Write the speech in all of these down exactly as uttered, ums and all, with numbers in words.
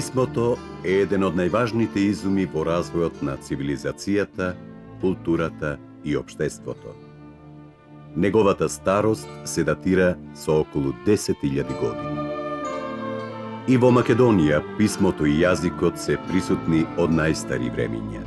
Писмото е еден од најважните изуми во развојот на цивилизацијата, културата и општеството. Неговата старост се датира со околу десет илјади години. И во Македонија писмото и јазикот се присутни од најстари времиња.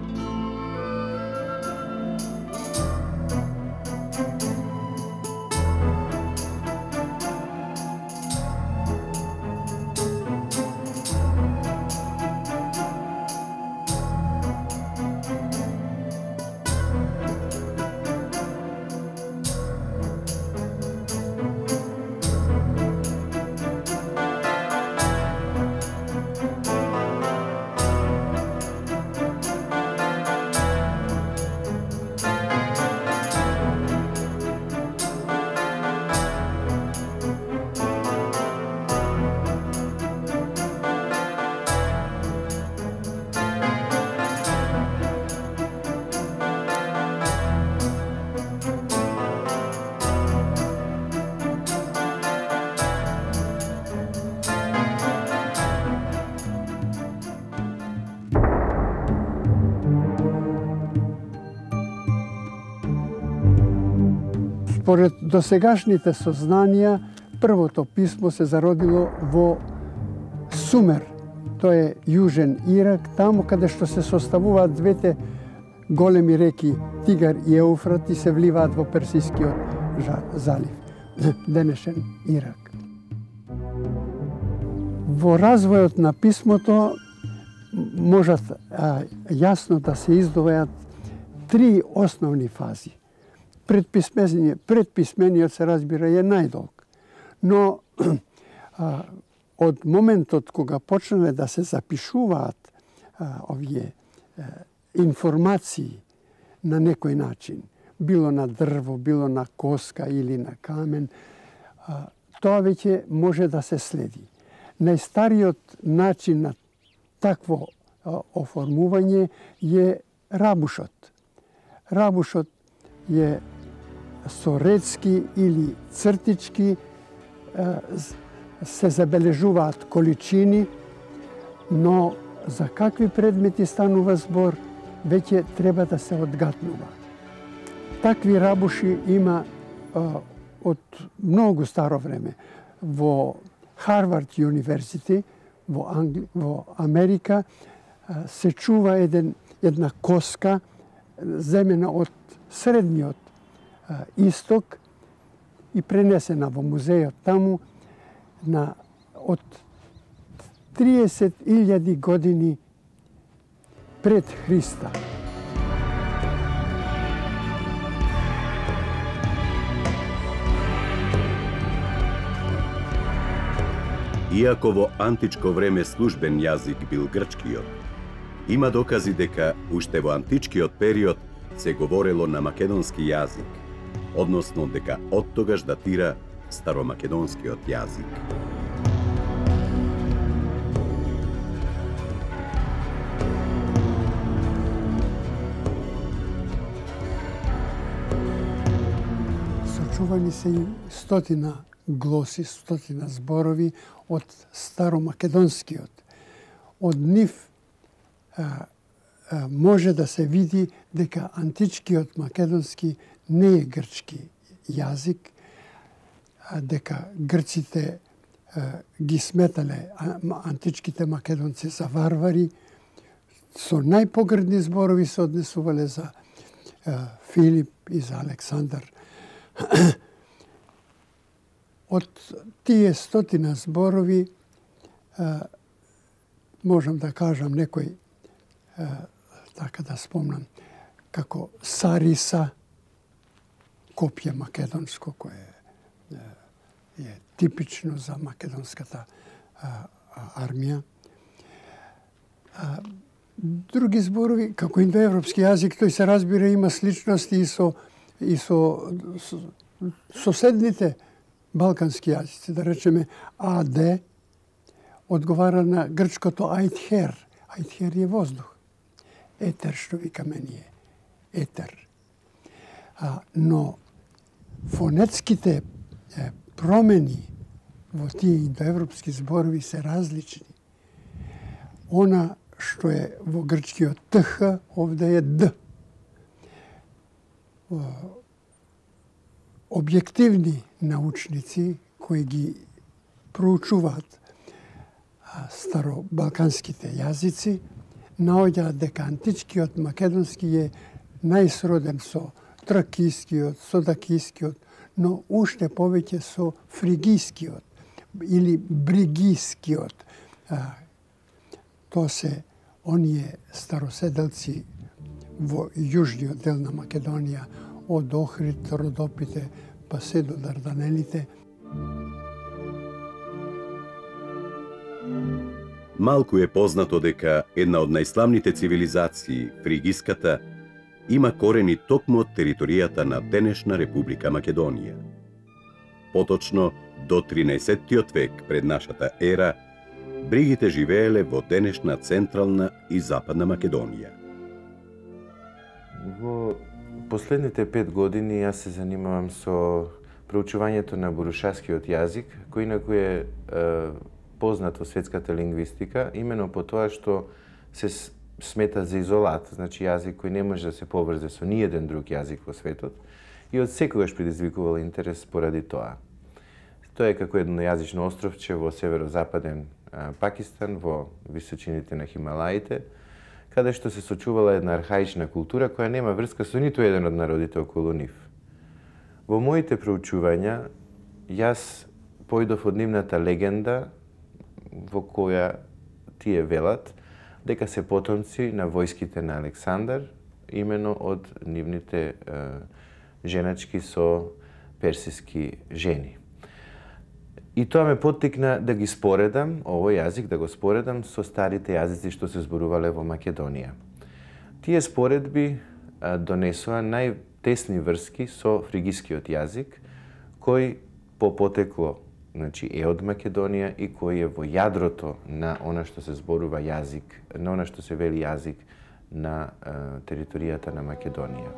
Според досегашните сознанија, првото писмо се зародило во Сумер. Тоа е јужен Ирак, таму каде што се составуваат двете големи реки Тигар и Еуфрат и се вливаат во Персискиот залив, денешен Ирак. Во развојот на писмото можат а, јасно да се издвојат три основни фази. Предписмениот, предписмениот се разбира е најдолг, но а, од моментот кога почнале да се запишуваат а, овие а, информации на некој начин, било на дрво, било на коска или на камен, а, тоа веќе може да се следи. Најстариот начин на такво а, оформување е рабушот. Рабушот е со редски или цртички, се забележуваат количини, но за какви предмети станува збор, веќе треба да се одгатнува. Такви рабуши има од многу старо време. Во Харвард универзити, во, Англи... во Америка, се чува еден, една коска земена од средниот исток и пренесена во музејот таму на од триесет илјади години пред Христа. Иако во античко време службен јазик бил грчкиот, има докази дека уште во античкиот период се говорело на македонски јазик, односно дека од тогаш датира старомакедонскиот јазик. Сочувани се и стотина глоси, стотина зборови од старомакедонскиот. Од нив а, а, може да се види дека античкиот македонски не е грчки јазик, а дека грците а, ги сметале а, античките македонци за варвари, со најпогрдни зборови се однесувале за а, Филип и за Александар. Од тие стотина зборови а, можам да кажам некој, а, така да спомнам, како Сариса, копје македонско, кое е, е типично за македонската а, армија. А, други зборови, како индоевропски јазик, тој се разбира има сличности и со, и со, со соседните балкански јазици, да речеме А Д, одговара на грчкото ајтхер. Ајтхер е воздух. Етер, што викаме ние. Етер. А, но фонетските е, промени во тие индоевропски зборови се различни. Она што е во грчкиот ТХ, овде е Д. Објективни научници кои ги проучуваат старобалканските јазици, наоѓаат дека античкиот македонски е најсроден со тракискиот, со дакискиот, но уште повеќе со фригискиот или бригискиот. Тоа се оние староседелци во јужниот дел на Македонија, од Охрид, Родопите, па се до Дарданелите. Малку е познато дека една од најславните цивилизации, фригиската, има корени токму од територијата на денешна Република Македонија. Поточно, до тринаесеттиот век пред нашата ера, бригите живееле во денешна Централна и Западна Македонија. Во последните пет години јас се занимавам со проучувањето на бурушаскиот јазик, кој инаку е, е познат во светската лингвистика, имено по тоа што се смета за изолат, значи јазик кој не може да се поврзе со ниеден друг јазик во светот и од секогаш предизвикувал интерес поради тоа. Тоа е како едно јазично островче во северозападен Пакистан, во височините на Хималаите, каде што се сочувала една архаична култура која нема врска со ниту еден од народите околу нив. Во моите проучувања, јас појдов од нивната легенда, во која тие велат дека се потомци на војските на Александар, имено од нивните е, женачки со персиски жени. И тоа ме поттикна да ги споредам, овој јазик да го споредам со старите јазици што се зборувале во Македонија. Тие споредби а, донесоа најтесни врски со фригискиот јазик, кој по потекло значи, е од Македонија и кој е во јадрото на она што се зборува јазик, на она што се вели јазик на а, територијата на Македонија.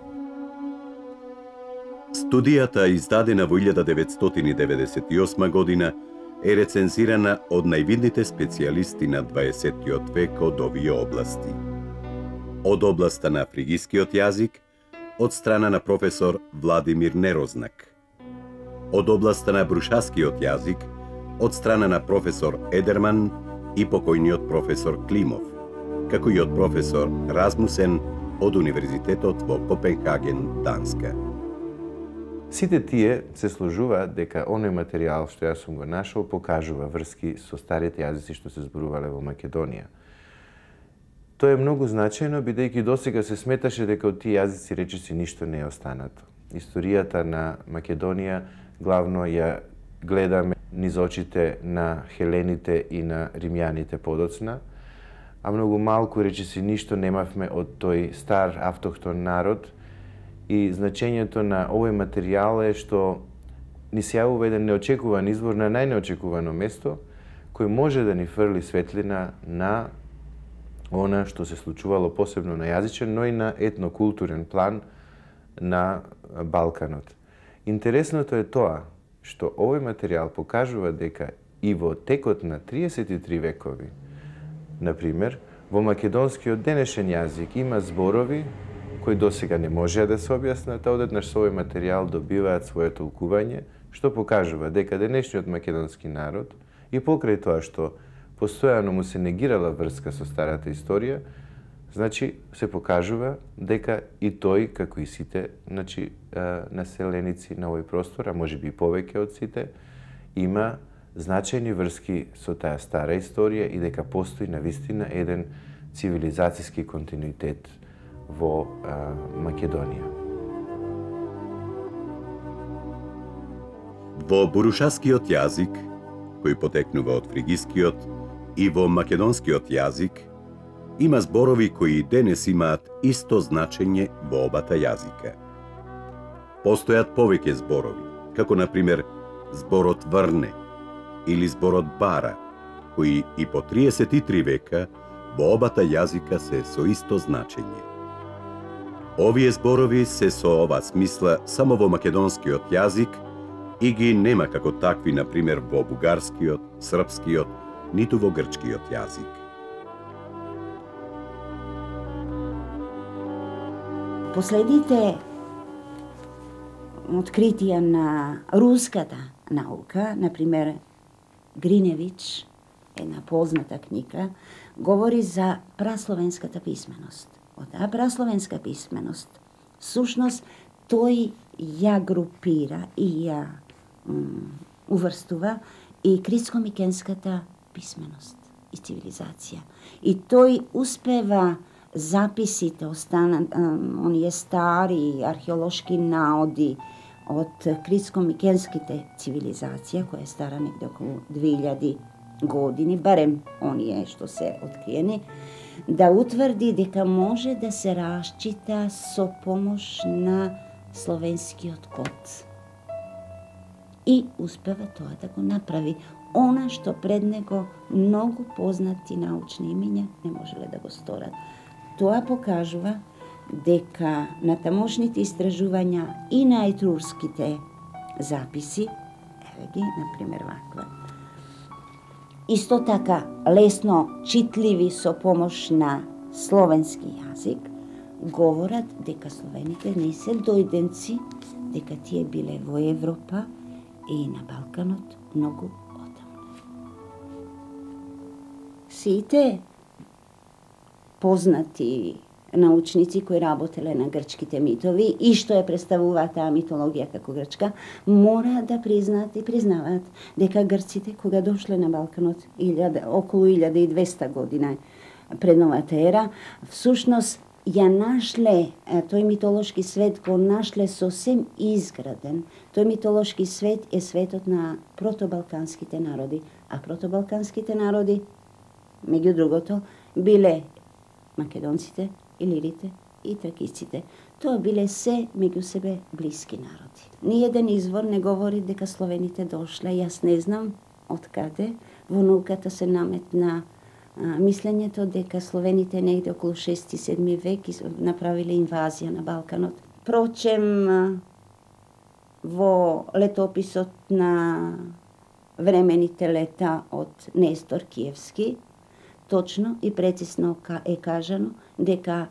Студијата, издадена во илјада деветстотини деветдесет и осма година, е рецензирана од највидните специјалисти на дваесеттиот век од овие области. Од областа на фригискиот јазик, од страна на професор Владимир Нерознак. Од областа на брушаскиот јазик, од страна на професор Едерман и покојниот професор Климов, како и од професор Размусен од Универзитетот во Копенхаген, Данска. Сите тие се сложуваат дека оној материјал што јас сум го нашол покажува врски со старите јазици што се зборувале во Македонија. Тоа е многу значајно, бидејќи досега се сметаше дека од тие јазици речиси ништо не е останато. Историјата на Македонија главно ја гледаме низ очите на хелените и на римјаните подоцна, а многу малку речиси ништо немавме од тој стар автохтон народ. И значењето на овој материјал е што ни се јавува еден неочекуван извор на најнеочекувано место, кој може да ни фрли светлина на она што се случувало посебно на јазичен, но и на етнокултурен план на Балканот. Интересното е тоа што овој материјал покажува дека и во текот на триесет и три векови, например, во македонскиот денешен јазик има зборови кои досега не можеа да се објаснат, а одеднаш со овој материјал добиваат свое толкување, што покажува дека денешниот македонски народ и покрај тоа што постојано му се негирала врска со старата историја, значи се покажува дека и тој, како и сите значи, населеници на овој простор, а можеби и повеќе од сите, има значајни врски со таа стара историја и дека постои навистина еден цивилизацијски континуитет во а, Македонија. Во бурушаскиот јазик, кој потекнува од фригискиот, и во македонскиот јазик, има зборови кои денес имаат исто значење во обата јазика. Постојат повеќе зборови, како например зборот врне или зборот бара, кои и по триесет и три века во обата јазика се со исто значење. Овие зборови се со ова смисла само во македонскиот јазик и ги нема како такви, например, во бугарскиот, српскиот, ниту во грчкиот јазик. последните откритија на руската наука, например Гриневич, една позната книга, говори за прасловенската писменост. Од таа прасловенска писменост, сушност, тој ја групира и ја уврстува и критско-микенската писменост и цивилизација. И тој успева записите, останат, оние стари археолошки наоди од критско-микенските цивилизација, која е стара негде околу две илјади години, барем оние што се откриени, да утврди дека може да се расчита со помош на словенскиот код. И успева тоа да го направи. Она што пред него многу познати научни имиња не можеле да го сторат. Тоа покажува дека на тамошните истражувања и на етрурските записи, еве ги, например, ваква, исто така лесно читливи со помош на словенски јазик, говорат дека словените не се дојденци, дека тие биле во Европа и на Балканот многу одамна. Сите познати научници кои работеле на грчките митови и што ја представуваат таа митологија како грчка, мора да признаат и признаваат дека грците кога дошле на Балканот околу илјада и двеста година пред новата ера, всушност ја нашле, тој митолошки свет го нашле сосем изграден. Тој митолошки свет е светот на протобалканските народи, а протобалканските народи, меѓу другото, биле македонците, илирите и тракиците. Тоа биле се меѓу себе блиски народи. Ниеден извор не говори дека словените дошле. Јас не знам од каде во науката се наметна а, мислењето дека словените негде околу шести-седми век направиле инвазија на Балканот. Впрочем, во летописот на времените лета од Нестор Киевски, точно и прецизно е кажано дека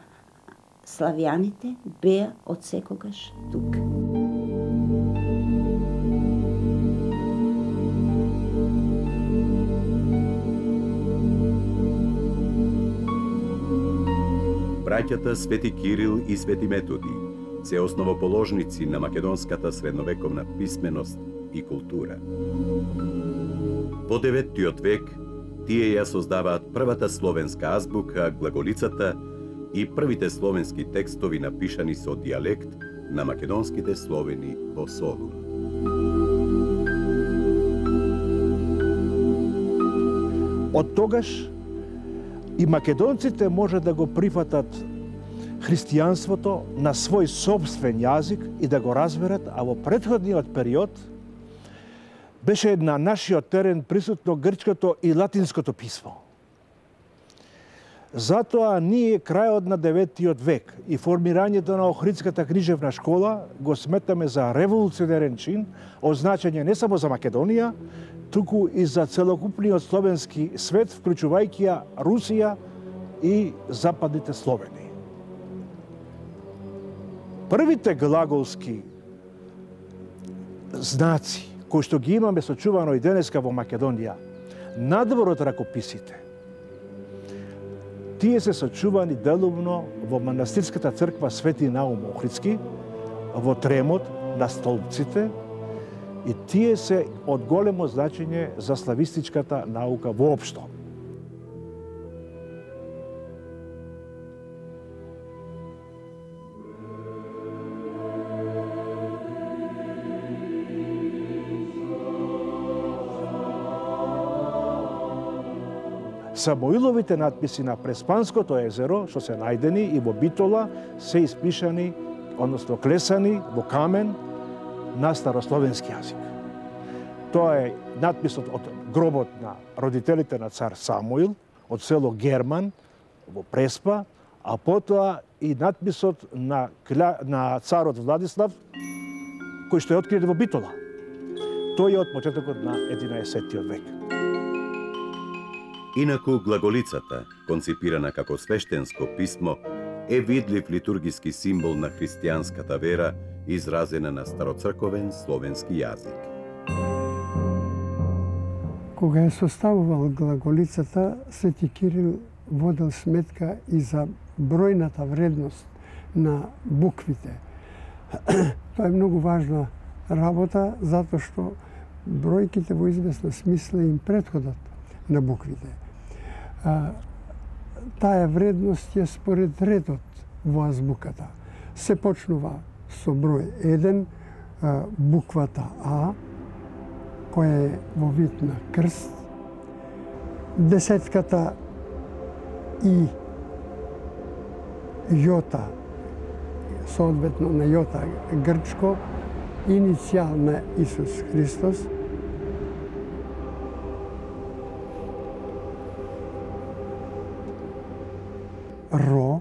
славјаните беа од секогаш тук. Браќата Свети Кирил и Свети Методи се основоположници на македонската средновековна писменост и култура. Во деветиот век тие ја создаваат првата словенска азбука, глаголицата и првите словенски текстови напишани со дијалект на македонските словени во Солун. Од тогаш и македонците може да го прифатат христијанството на свој собствен јазик и да го разберат, а во претходниот период беше на нашиот терен присутно грчкото и латинското писмо. Затоа ние крајот на деветиот век и формирањето на Охридската книжевна школа го сметаме за револуционерен чин, означање не само за Македонија, туку и за целокупниот словенски свет, вклучувајќи ја Русија и западните словени. Првите глаголски знаци кои што ги имаме сочувано и денеска во Македонија, надвор од ракописите, тие се сочувани делумно во манастирската црква Свети Наум Охридски, во Тремот на столбците, и тие се од големо значење за славистичката наука воопшто. Самоиловите надписи на Преспанското езеро, што се најдени и во Битола, се испишани, односно клесани во камен на старословенски јазик. Тоа е надписот од гробот на родителите на цар Самуил, од село Герман во Преспа, а потоа и надписот на, на царот Владислав, кој што е открит во Битола. Тој е од почетокот на единаесеттиот век. Инаку глаголицата, конципирана како свештенско писмо, е видлив литургиски символ на христијанската вера, изразена на староцрковен словенски јазик. Кога е составувал глаголицата, Свети Кирил водел сметка и за бројната вредност на буквите. Тоа е многу важна работа, затоа што бројките во известна смисла им претходат на буквите. Таа вредност е според редот во азбуката. Се почнува со број еден, буквата А, која е во вид на крст, десетката И, јота, соодветно на јота грчко, иницијал на Исус Христос, Ро,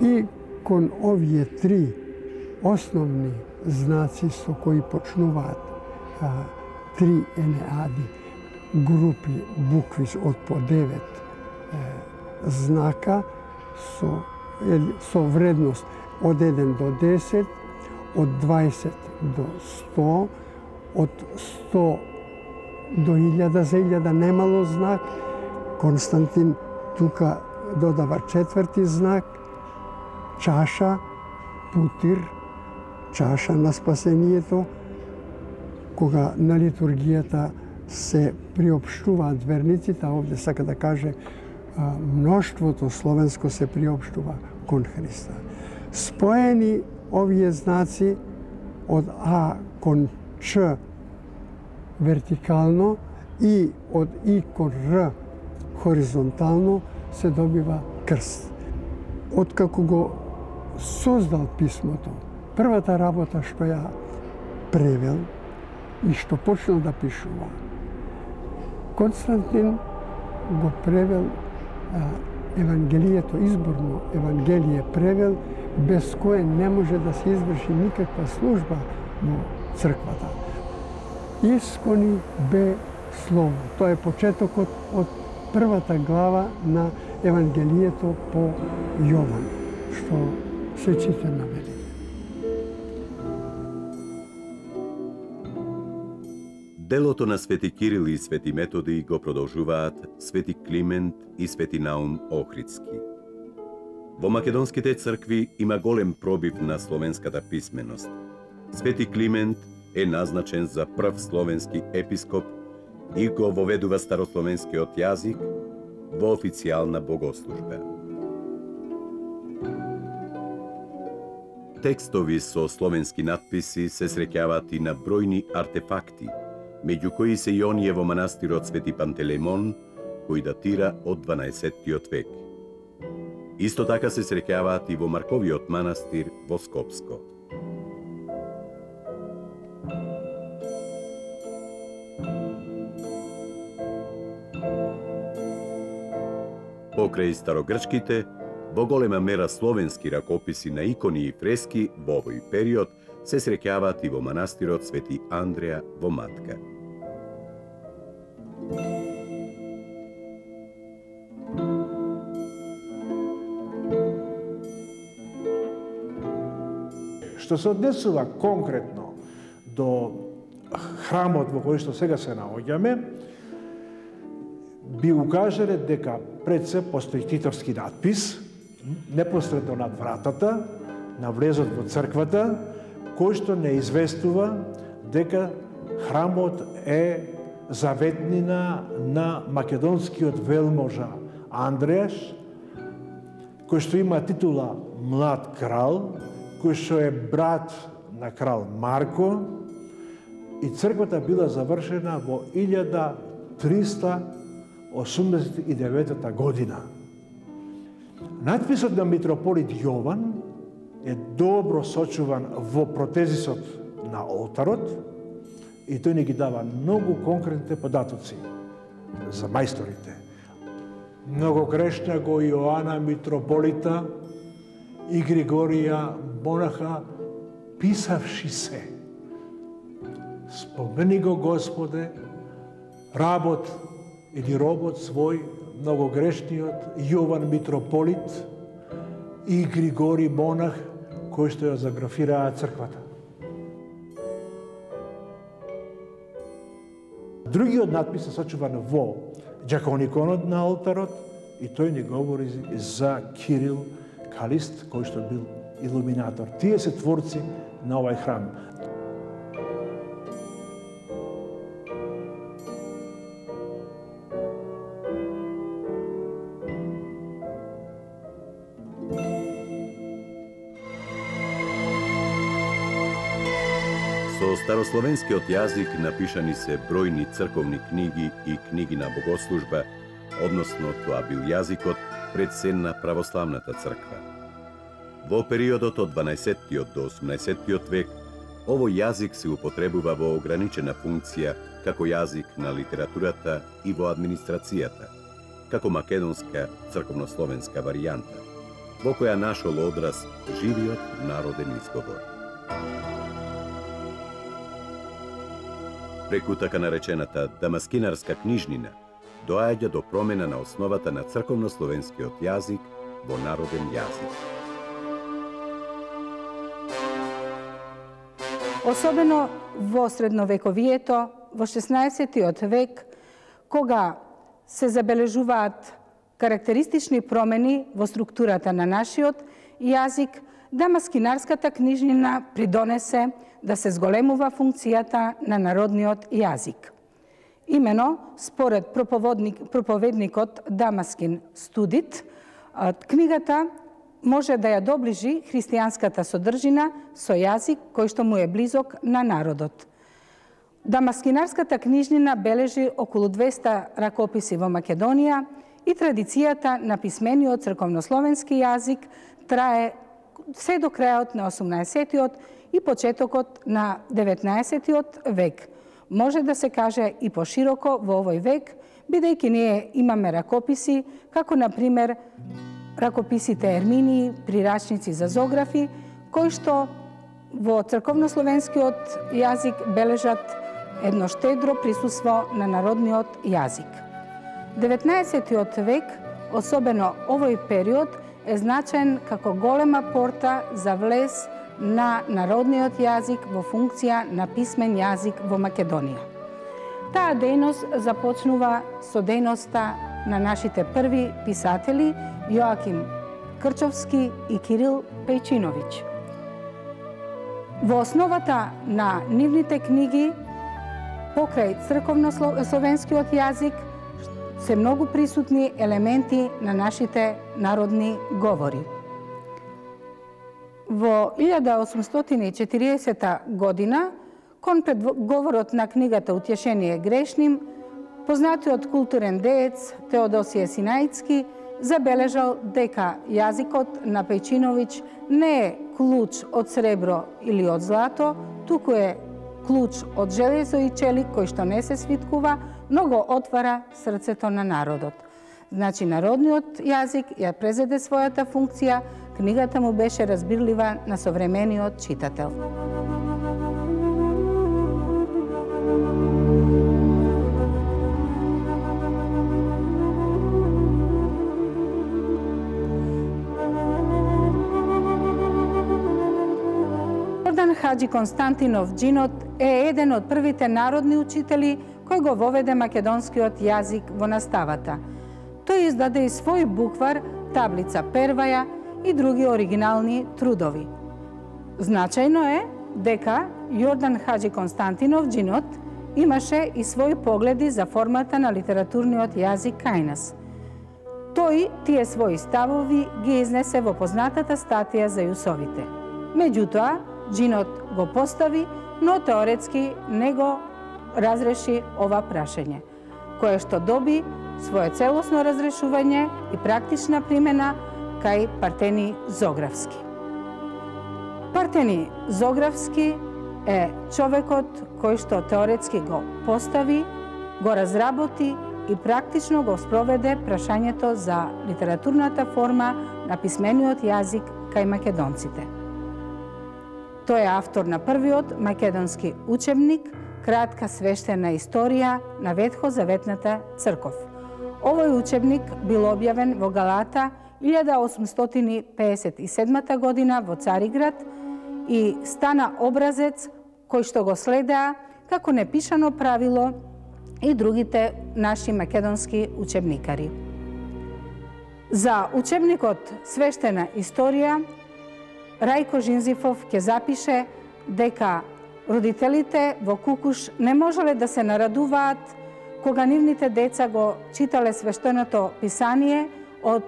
и кон овие три основни знаци со кои почнуваат а, три енеади, групи букви од по девет е, знака со, е, со вредност од еден до десет, од дваесет до сто, од сто до илјада, за илјада немало знак. Константин тука додава четврти знак, чаша, путир, чаша на спасението. Кога на литургијата се приопштуваат верниците, а овде сака да каже мноштвото словенско се приопштува кон Христа. Споени овие знаци од А кон Ч вертикално и од И кон Р хоризонтално се добива крст. Откако го создал писмото, првата работа што ја превел и што почнал да пишува, Константин го превел а, Евангелието, изборно Евангелие превел, без кое не може да се изврши никаква служба во црквата. Искони бе слово. Тоа е почетокот од првата глава на Евангелието по Јован, што се чита на велите. Делото на Свети Кирил и Свети Методи го продолжуваат Свети Климент и Свети Наум Охридски. Во македонските цркви има голем пробив на словенската писменост. Свети Климент е назначен за прв словенски епископ и го воведува старословенскиот јазик во официјална богослужба. Текстови со словенски надписи се среќаваат и на бројни артефакти, меѓу кои се и оние во манастирот Свети Пантелеймон, кој датира од дванаесеттиот век. Исто така се среќаваат и во Марковиот манастир во Скопско. Покрај старогрчките, во голема мера словенски ракописи на икони и фрески во овој период се среќаваат и во манастирот Свети Андреја во Матка. Што се однесува конкретно до храмот во кој што сега се наоѓаме, би укажале дека пред се постои титовски надпис, непосредно над вратата, на влезот во црквата, кој што не известува дека храмот е заветнина на македонскиот велможа Андрејаш, кој што има титула Млад крал, кој што е брат на крал Марко, и црквата била завршена во илјада триста осумдесет и девета година. Надписот на митрополит Јован е добро сочуван во протезисот на олтарот и тој ни ги дава многу конкретни податоци за мајсторите. Много грешна го Јоана митрополита и Григорија монаха, писавши се. Спомени го Господе, работ или робот свој, многогрешниот Јован митрополит, и Григори Монах, кои што ја заграфираа црквата. Другиот надпис е сочуван во џакониконот на олтарот и тој ни говори за Кирил Калист, кој што бил илуминатор. Тие се творци на овај храм. Со старословенскиот јазик напишани се бројни црковни книги и книги на богослужба, односно тоа бил јазикот пред се на православната црква. Во периодот од дванаесеттиот до осумнаесеттиот век, овој јазик се употребува во ограничена функција како јазик на литературата и во администрацијата, како македонска црковнословенска варијанта, во која нашол одраз живиот народен изговор. Преку така наречената дамаскинарска книжнина доаѓа до промена на основата на црковнословенскиот јазик во народен јазик. Особено во средновековието, во шеснаесеттиот век, кога се забележуваат карактеристични промени во структурата на нашиот јазик, дамаскинарската книжнина придонесе да се зголемува функцијата на народниот јазик. Имено, според проповедникот Дамаскин Студит, книгата може да ја доближи христијанската содржина со јазик кој што му е близок на народот. Дамаскинарската книжнина бележи околу двеста ракописи во Македонија и традицијата на писмениот црковнословенски јазик трае се до крајот на осумнаесеттиот и почетокот на деветнаесеттиот век. Може да се каже и пошироко во овој век, бидејќи ние имаме ракописи, како на пример ракописите Ерминии, прирачници за зографи, кои што во црковнословенскиот јазик бележат едно штедро присуство на народниот јазик. деветнаесеттиот век, особено овој период, е значаен како голема порта за влез на народниот јазик во функција на писмен јазик во Македонија. Таа дејност започнува со дејноста на нашите први писатели Јоаким Крчовски и Кирил Пејчиновиќ. Во основата на нивните книги, покрај црковнословенскиот јазик, се многу присутни елементи на нашите народни говори. Во илјада осумстотини и четириесета година, кон предговорот на книгата Утешение грешним, познатиот културен деец Теодосије Синаицки забележал дека јазикот на Пејчиновиќ не е клуч од сребро или од злато, туку е клуч од железо и челик кој што не се свиткува, но го отвара срцето на народот. Значи, народниот јазик ја презеде својата функција, книгата му беше разбирлива на современиот читател. Јордан Хаџи Константинов Џинот е еден од првите народни учители кој го воведе македонскиот јазик во наставата. Тој издаде и свој буквар, таблица Перваја и други оригинални трудови. Значајно е дека Јордан Хаџи Константинов Џинот имаше и своји погледи за формата на литературниот јазик кај нас. Тој тие своји ставови ги изнесе во познатата статија за јусовите. Меѓутоа, Џинот го постави, но теоретски не го разреши ова прашање, кое што доби свое целосно разрешување и практична примена кај Партени Зографски. Партени Зографски е човекот кој што теоретски го постави, го разработи и практично го спроведе прашањето за литературната форма на писмениот јазик кај македонците. Тој е автор на првиот македонски учебник, кратка свештена историја на Ветхозаветната црков. Овој учебник бил објавен во Галата илјада осумстотини пеесет и седма година во Цариград и стана образец кој што го следеа како непишано правило и другите наши македонски учебникари. За учебникот Свештена историја Рајко Жинзифов ќе запише дека родителите во Кукуш не можеле да се нарадуваат кога нивните деца го читале свештеното писание од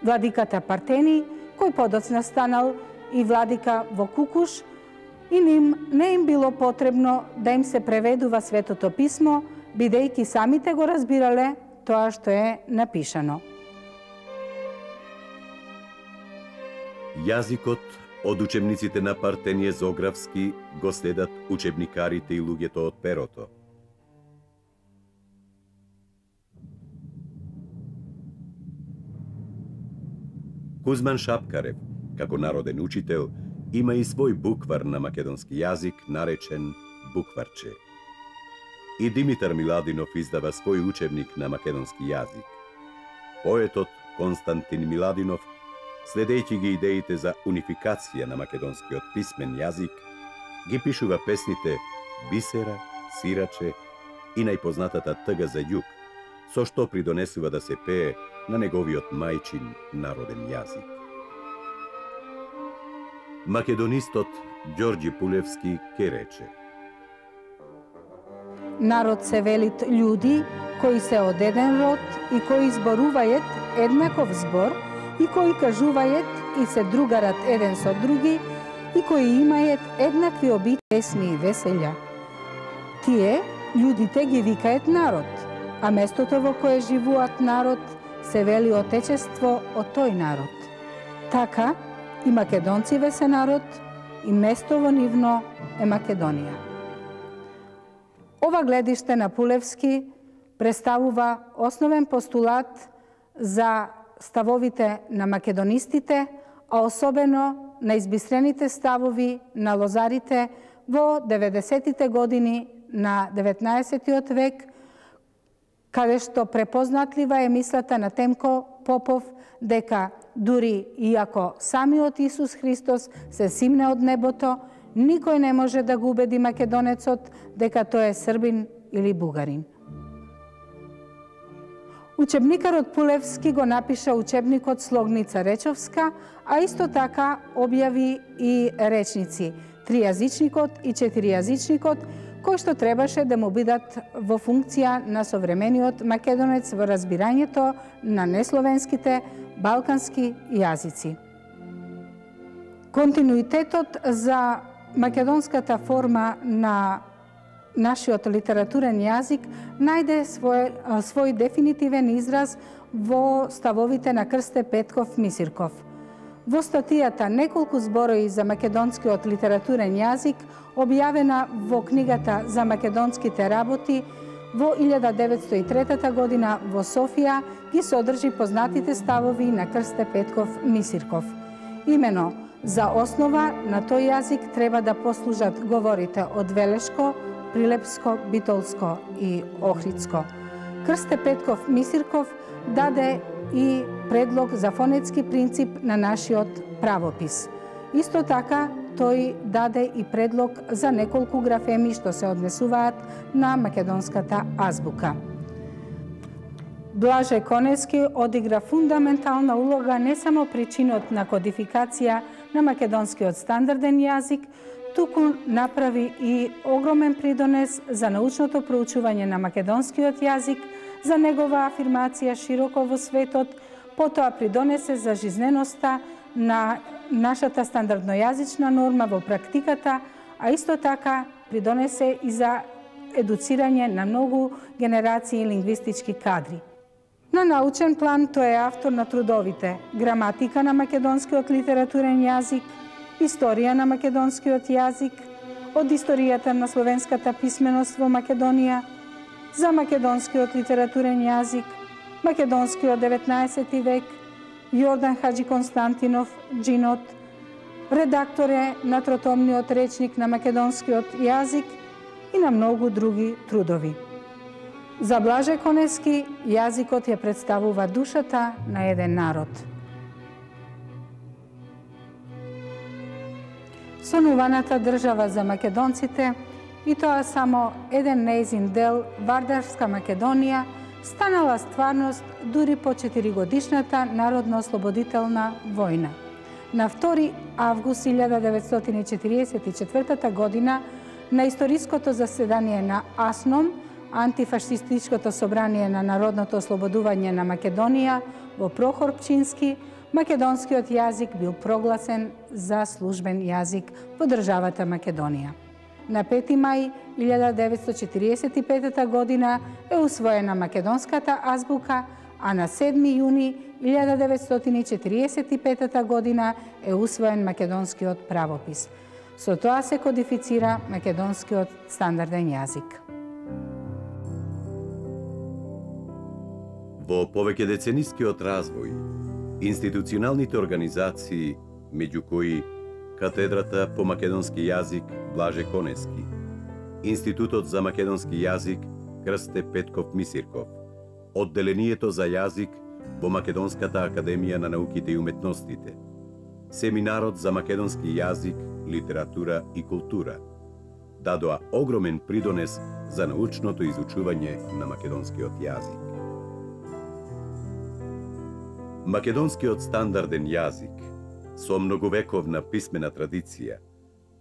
владиката Партени, кој подоцна станал и владика во Кукуш, и ним не им било потребно да им се преведува Светото писмо, бидејќи самите го разбирале тоа што е напишано. Јазикот од учебниците на Партеније Зографски го следат учебникарите и луѓето од перото. Кузман Шапкарев, како народен учител, има и свој буквар на македонски јазик, наречен Букварче. И Димитар Миладинов издава свој учебник на македонски јазик. Поетот Константин Миладинов, следејќи ги идеите за унификација на македонскиот писмен јазик, ги пишува песните Бисера, Сираче и најпознатата Тга за југ, со што придонесува да се пее на неговиот мајчин народен јазик. Македонистот Ѓорѓи Пулевски ке рече: Народ се велит људи кои се од еден род и кои зборувајат еднаков збор и кои кажувајат и се другарат еден со други и кои имајат еднакви обичаи, песни и веселја. Тие људите ги викаат народ, а местото во кое живеат народ се вели отечество од тој народ. Така и македонциве се народ и место во нивно е Македонија. Ова гледиште на Пулевски представува основен постулат за ставовите на македонистите, а особено на избисрените ставови на лозарите во деветдесетите години на деветнаесеттиот век, каде што препознатлива е мислата на Темко Попов дека дури иако самиот Исус Христос се симне од небото, никој не може да го убеди македонецот дека тој е србин или бугарин. Учебникарот Пулевски го напиша учебникот Слогница речовска, а исто така објави и речници Тријазичникот и Четиријазичникот, кои што требаше да му бидат во функција на современиот македонец во разбирањето на несловенските балкански јазици. Континуитетот за македонската форма на нашиот литературен јазик најде свој, свој дефинитивен израз во ставовите на Крсте Петков Мисирков. Во статијата "Неколку зборови за македонскиот литературен јазик", објавена во книгата за македонските работи во илјада деветстотини и трета година во Софија, ги содржи познатите ставови на Крсте Петков Мисирков. Имено, за основа на тој јазик треба да послужат говорите од Велешко, Прилепско, Битолско и Охридско. Крсте Петков Мисирков даде и предлог за фонетски принцип на нашиот правопис. Исто така, тој даде и предлог за неколку графеми што се однесуваат на македонската азбука. Блаже Конески одигра фундаментална улога не само причинот на кодификација на македонскиот стандарден јазик, туку направи и огромен придонес за научното проучување на македонскиот јазик, за негова афирмација широко во светот, потоа придонесе за жизненоста на нашата стандарднојазична норма во практиката, а исто така придонесе и за едуцирање на многу генерации лингвистички кадри. На научен план тој е автор на трудовите Граматика на македонскиот литературен јазик, Историја на македонскиот јазик, Од историјата на словенската писменост во Македонија, За македонскиот литературен јазик, Македонскиот деветнаесети век, Јордан Хаджи Константинов, Джинот, редактор е на тротомниот речник на македонскиот јазик и на многу други трудови. За Блаже Конески, јазикот ја представува душата на еден народ. сонуваната држава за македонците, и тоа само еден неизин дел, Вардарска Македонија, станала стварност дури по четиригодишната народно-ослободителна војна. На втори август илјада деветстотини четириесет и четвртата година на историското заседание на АСНОМ, антифашистичкото собрание на народното ослободување на Македонија во Прохор Пчински, македонскиот јазик бил прогласен за службен јазик во државата Македонија. На пети мај илјада деветстотини четириесет и петата година е усвоена македонската азбука, а на седми јуни илјада деветстотини четириесет и петата година е усвоен македонскиот правопис. Со тоа се кодифицира македонскиот стандарден јазик. Во повеќедеценискиот развој, институционалните организации, меѓу кои Катедрата по македонски јазик Блаже Конески, Институтот за македонски јазик Крсте Петков Мисирков, Одделението за јазик во Македонската академија на науките и уметностите, Семинарот за македонски јазик, литература и култура, дадоа огромен придонес за научното изучување на македонскиот јазик. Македонскиот стандарден јазик, со многовековна писмена традиција,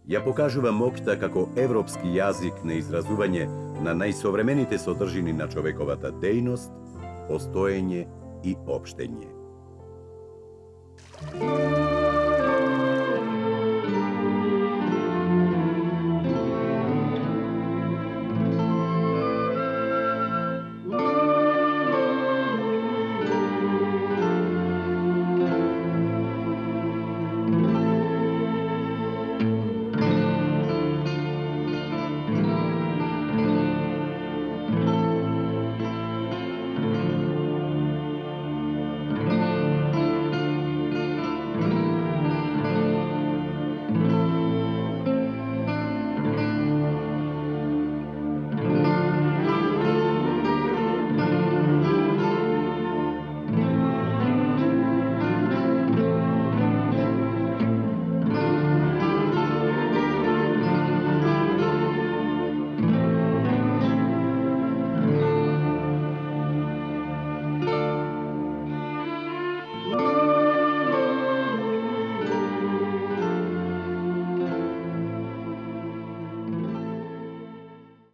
ја покажува моќта како европски јазик на изразување на најсовремените содржини на човековата дејност, постоење и општење.